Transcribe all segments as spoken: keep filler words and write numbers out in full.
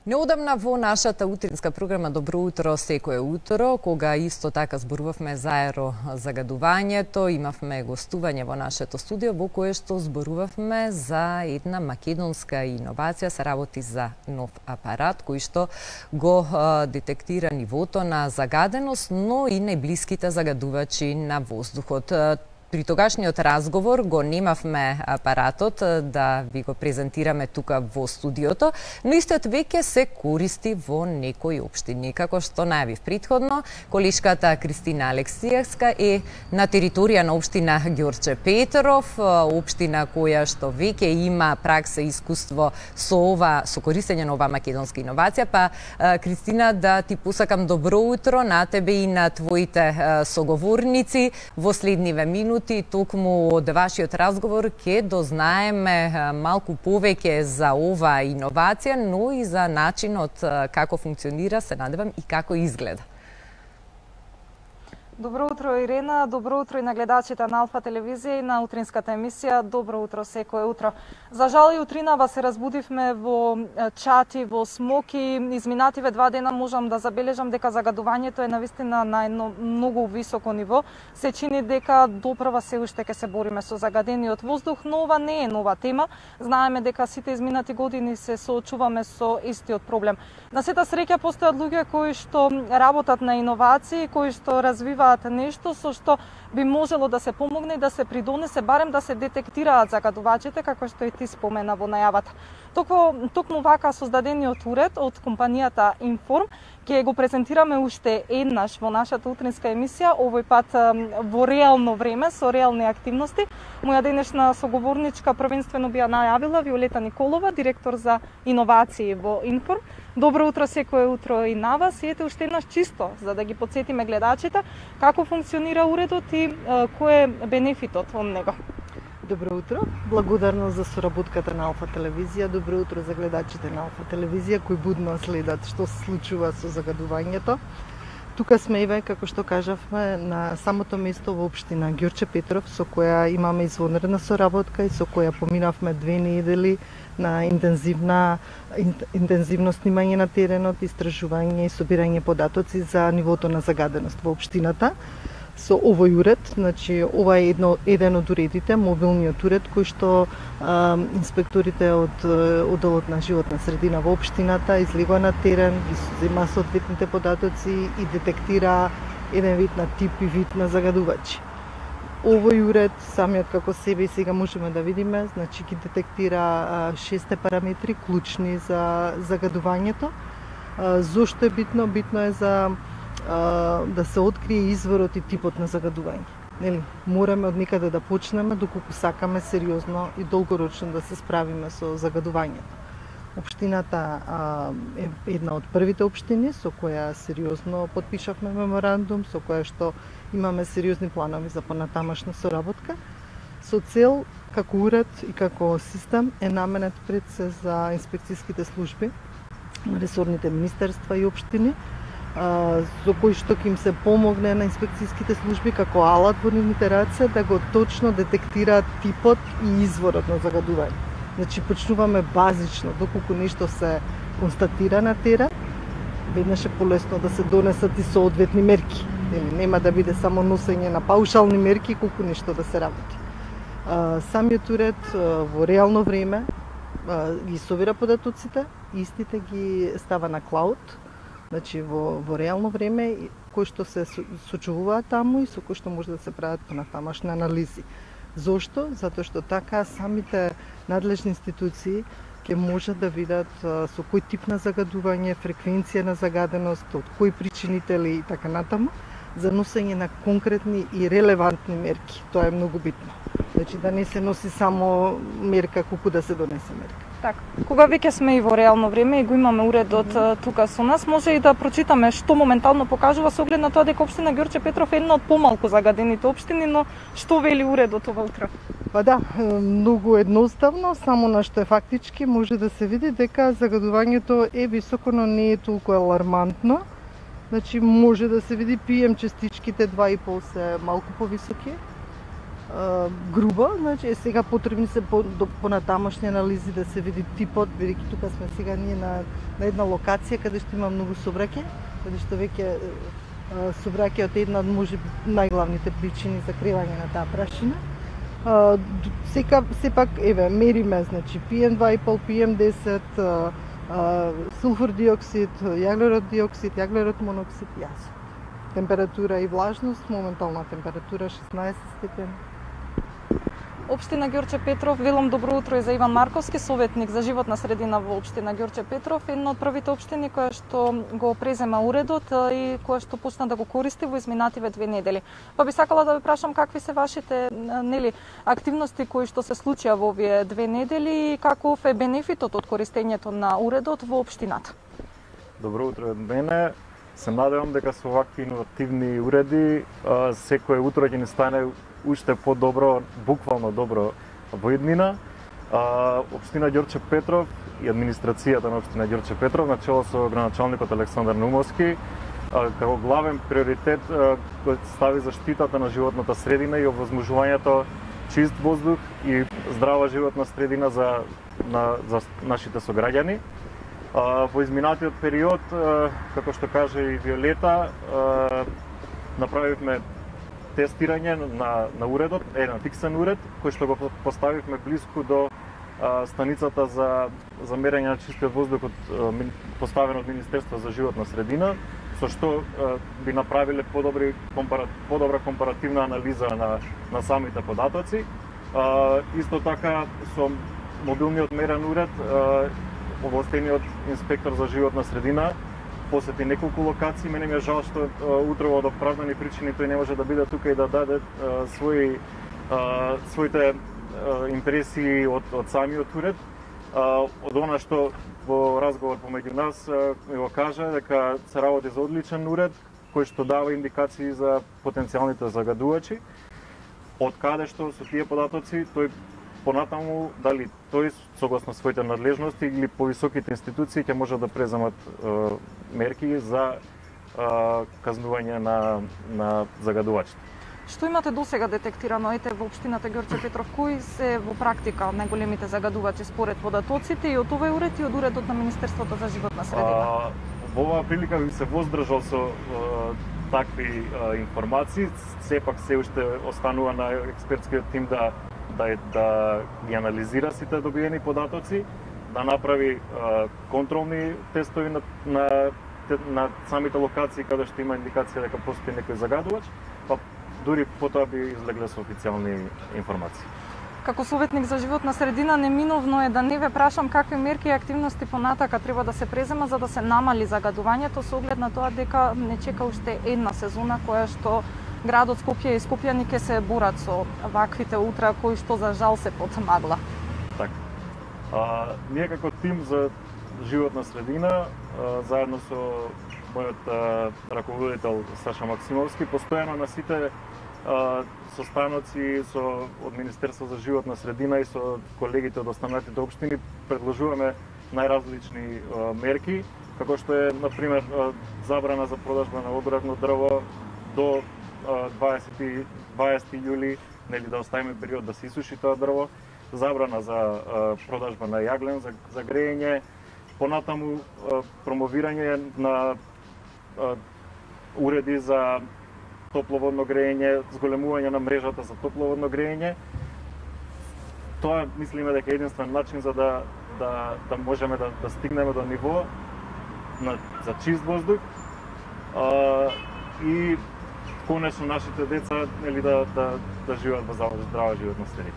Неодамна во нашата утринска програма Добро утро секое утро, кога исто така зборувавме за аерозагадувањето, имавме гостување во нашето студио во кое што зборувавме за една македонска иновација, се работи за нов апарат кој што го детектира нивото на загаденост, но и најблиските загадувачи на воздухот. При тогашниот разговор го немавме апаратот да ви го презентираме тука во студиото, но истиот веќе се користи во некои општини. Како што најавив претходно, колешката Кристина Алексиевска е на територија на општина Ѓорче Петров, општина која што веќе има пракса и искуство со ова, со користење на оваа македонска иновација. Па Кристина, да ти посакам добро утро на тебе и на твоите соговорници во следниве минути. Токму од вашиот разговор ќе дознаеме малку повеќе за оваа иновација, но и за начинот како функционира, се надевам, и како изгледа. Добро утро, Ирена, добро утро и на гледачите на Алфа телевизија и на утринската емисија Добро утро секое утро. За жал и утринава се разбудивме во чати, во смоки. Изминативе два дена можам да забележам дека загадувањето е навистина на едно многу високо ниво. Се чини дека допрва се уште ќе се бориме со загадениот воздух, но ова не е нова тема. Знаеме дека сите изминати години се соочуваме со истиот проблем. На сета среќа постојат луѓе кои што работат на иновации, кои што развиваат нешто со што би можело да се помогне и да се придонесе барем да се детектираат загадувачите, како што и ти спомена во најавата. Токму, токму вака создадениот уред од компанијата Inform ќе го презентираме уште еднаш во нашата утринска емисија, овој пат во реално време, со реални активности. Моја денешна соговорничка првенствено би ја најавила Виолета Николова, директор за иновации во Inform. Добро утро секое утро и на вас. И ете уште еднаш чисто, за да ги подсетиме гледачите како функционира уредот и кој е бенефитот од него. Добро утро, благодарност за соработката на Алфа телевизија. Добро утро за гледачите на Алфа телевизија кои будно следат што се случува со загадувањето. Тука сме еве, како што кажавме, на самото место во општина Ѓорче Петров, со која имаме извонредна соработка и со која поминавме две недели на интензивна интензивно снимање на теренот, истражување и собирање податоци за нивото на загаденост во општината. Со овој уред, значи ова е едно, еден од уредите, мобилниот уред кој што а, инспекторите од одделот на животна средина во општината излегува на терен, зема соодветните податоци и детектира еден вид на тип и вид на загадувачи. Овој уред, самиот како себе и сега можеме да видиме, значи ги детектира шесте параметри клучни за загадувањето. А, зошто е битно? Битно е за да се открие изворот и типот на загадување. Нели, мораме од некаде да почнеме доколку сакаме сериозно и долгорочно да се справиме со загадувањето. Општината а, е една од првите општини со која сериозно потпишавме меморандум, со која што имаме сериозни планови за понатамашна соработка, со цел како уред и како систем е наменет пред се за инспекцијските служби на ресорните министерства и општини, со кој што ќе им се помогне на инспекцијските служби како алат во нивните раце да го точно детектираат типот и изворот на загадување. Значи почнуваме базично, доколку нешто се констатира на терен, веднаш е полесно да се донесат и соодветни мерки. Нели, нема да биде само носење на паушални мерки колку нешто да се работи. Самиот уред во реално време ги собира податоците, истите ги става на клауд, значи во, во реално време, кој што се сочувуваат таму и со кој што може да се прават понатамашни анализи. Зошто? Затоа што така самите надлежни институции ќе можат да видат со кој тип на загадување, фреквенција на загаденост, од кои причинители и така натаму, за носење на конкретни и релевантни мерки. Тоа е многу битно. Значи да не се носи само мерка колку да се донесе мерка. Така, кога веќе сме и во реално време и го имаме уредот mm -hmm. тука со нас, може и да прочитаме што моментално покажува со оглед на тоа дека општина Ѓорче Петров е една од помалку загадените општини, но што вели уредот ова утро? Па да, многу едноставно, само на што е фактички може да се види дека загадувањето е високо, но не е толку алармантно. Значи може да се види пи ем частичките два и пол се малку повисоки. грубо, значи сега потребни се по, до, понатамошни анализи да се види типот, бидејќи тука сме сега ние на, на една локација каде што има многу собраќај, каде што веќе собраќајот е една од можеби најглавните причини за кревање на таа прашина. А, сека сепак еве мериме, значи пи ем два и пет, пи ем десет, а, а, сулфур диоксид, јаглерод диоксид, јаглерод моноксид, јас. Температура и влажност, моментална температура шеснаесет степени. Општина Ѓорче Петров, велам добро утро и за Иван Марковски, советник за животна средина во општина Ѓорче Петров, една од првите општини која што го презема уредот и која што почна да го користи во изминативе две недели. Па би сакала да ви прашам какви се вашите нели активности кои што се случија во овие две недели и каков е бенефитот од користењето на уредот во општината. Добро утро од мене. Се надевам дека со вакви иновативни уреди секое утро ќе ни стане уште подобро, буквално добро во иднина. Општина Ѓорче Петров и администрацијата на општина Ѓорче Петров на чело со градоначалникот Александар Наумовски како главен приоритет кој стави заштитата на животната средина и овозможувањето чист воздух и здрава животна средина за на за нашите сограѓани. Во изминатиот период, како што каже и Виолета, направивме тестирање на, на уредот, еден фиксен уред, кој што го поставивме близко до а, станицата за, за мерење на чистиот воздух од, поставен од Министерство за животна средина, со што а, би направиле подобри, компара, подобра компаративна анализа на, на самите податоци. А, исто така, со мобилниот мерен уред, а, овластениот инспектор за животна средина посети неколку локации. Мене ми е жал што утро од оправдани причини тој не може да биде тука и да даде а, своји а, своите а, импресии од, од самиот уред. А, од она што во разговор помеѓу нас а, ми го кажа дека се работи за одличен уред кој што дава индикации за потенцијалните загадувачи. Од каде што со тие податоци тој понатаму дали тој согласно своите надлежности или повисоките институции ќе може да преземат е, мерки за е, казнување на на загадувачите. Што имате досега детектирано ете во општината Ѓорче Петров, кои се во практика најголемите загадувачи според податоците и од овој уред и од уредот на Министерството за животна средина? А, во оваа прилика би се воздржал со е, такви е, информации, сепак се уште останува на експертскиот тим да да да ги анализира сите добиени податоци, да направи е, контролни тестови на, на на самите локации каде што има индикација дека постои некој загадувач, па дури потоа би излегле со официјални информации. Како советник за животна средина, неминовно е да не ве прашам какви мерки и активности понатака треба да се презема за да се намали загадувањето со оглед на тоа дека не чека уште една сезона која што градот Скопје и скопјани ќе се борат со ваквите утра кои што за жал се под магла. Така. А, ние како тим за животна средина, а, заедно со мојот а, раководител Саша Максимовски, постојано на сите а, состаноци со од Министерство за животна средина и со колегите од останатите општини предложуваме најразлични а, мерки, како што е на пример а, забрана за продажба на одредно дрво до дваесети јули, нели да оставиме период да се исуши тоа дрво, забрана за а, продажба на јаглен за, за грејење, понатаму а, промовирање на а, уреди за топловодно грејење, зголемување на мрежата за топловодно грејење. Тоа мислиме дека е единствен начин за да да да можеме да да стигнеме до ниво на за чист воздух а, и конечно нашите деца нели да да да живеат во здрава животна средина.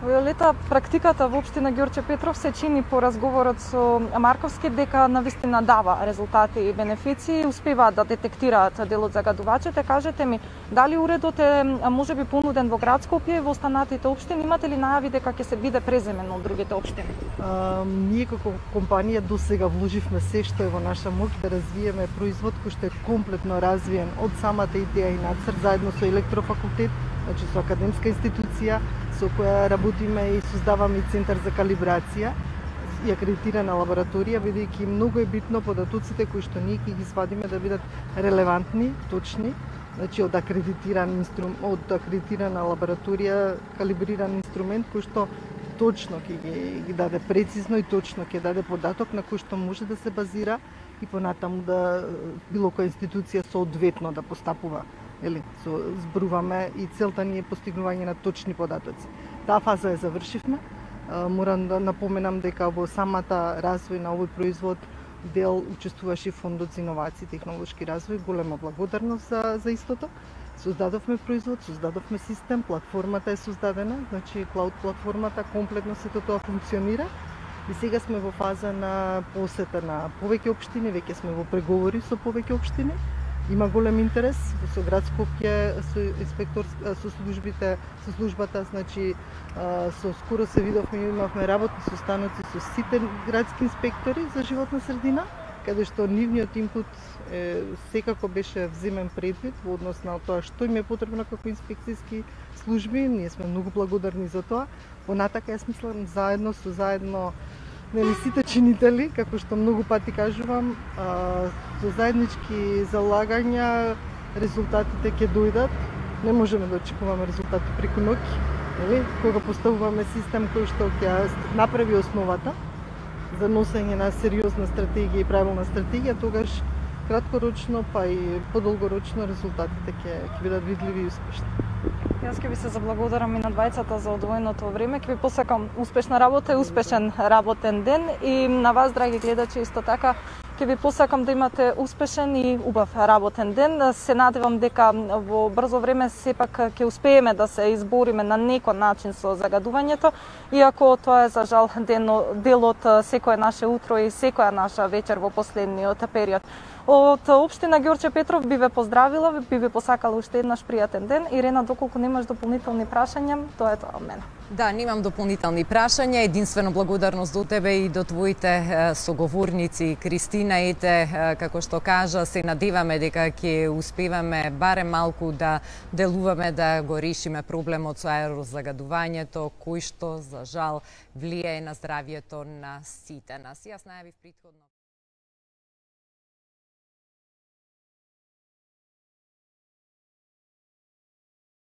Виолета, практиката во општина Ѓорче Петров се чини по разговорот со Марковски дека навистина дава резултати и бенефиции, успеваат да детектираат дел од загадувачите. Кажете ми, дали уредот е можеби понуден во град Скопје и во останатите општини? Имате ли најави дека ќе се биде преземен од другите општини? А, ние како компанија досега вложивме се што е во наша моќ да развиеме производ кој што е комплетно развиен од самата идеја и нацрт заедно со електрофакултет, значи со академска институција со која работиме и создаваме и центар за калибрација и акредитирана лабораторија, бидејќи многу е битно податоците кои што ние ќе ги свадиме да бидат релевантни, точни Значи од акредитиран инструмент, од акредитирана лабораторија калибриран инструмент кој што точно ќе ги, ги даде прецизно и точно ќе даде податок на кој што може да се базира и понатаму да било која институција соодветно да постапува. Ели, со зборуваме и целта ни е постигнување на точни податоци. Таа фаза ја завршивме. Морам да напоменам дека во самата развој на овој производ дел учествуваше фондот за иновации и технолошки развој. Голема благодарност за, за истото. Создадовме производ, создадовме систем, платформата е создадена, значи клауд платформата комплетно сето тоа функционира. И сега сме во фаза на посета на повеќе општини, веќе сме во преговори со повеќе општини. Има голем интерес со град Скопје, со инспектор, со службите, со службата, значи со скоро се видовме, имавме работни состаноци со сите градски инспектори за животна средина, каде што нивниот инпут е, секако беше вземен предвид во однос на тоа што им е потребно како инспекцијски служби. Ние сме многу благодарни за тоа. Понатака јас мислам заедно со заедно нели сите чинители, како што многу пати кажувам, а, со заеднички залагања резултатите ќе дојдат. Не можеме да очекуваме резултати преку ноќ, нели? Кога поставуваме систем кој што ќе направи основата за носење на сериозна стратегија и правилна стратегија, тогаш краткорочно па и подолгорочно резултатите ќе ќе бидат видливи и успешни. Јас ќе ви се заблагодарам и на двајцата за одвоеното време. Ќе ви посакам успешна работа и успешен работен ден, и на вас, драги гледачи, исто така ќе ви посакам да имате успешен и убав работен ден. Се надевам дека во брзо време сепак ќе успееме да се избориме на некој начин со загадувањето, иако тоа е за жал дел од секое наше утро и секоја наша вечер во последниот период. Од општина Ѓорче Петров би ве поздравила, би ви посакала уште еднаш пријатен ден. Ирена, доколку немаш дополнителни прашања, тоа е тоа од мене. Да, немам дополнителни прашања, единствено благодарност до тебе и до твоите соговорници, Кристина и те, како што кажа, се надеваме дека ќе успеваме барем малку да делуваме да го решиме проблемот со аерозагадувањето, кој што за жал влијае на здравјето на сите нас. Јас најавив претходно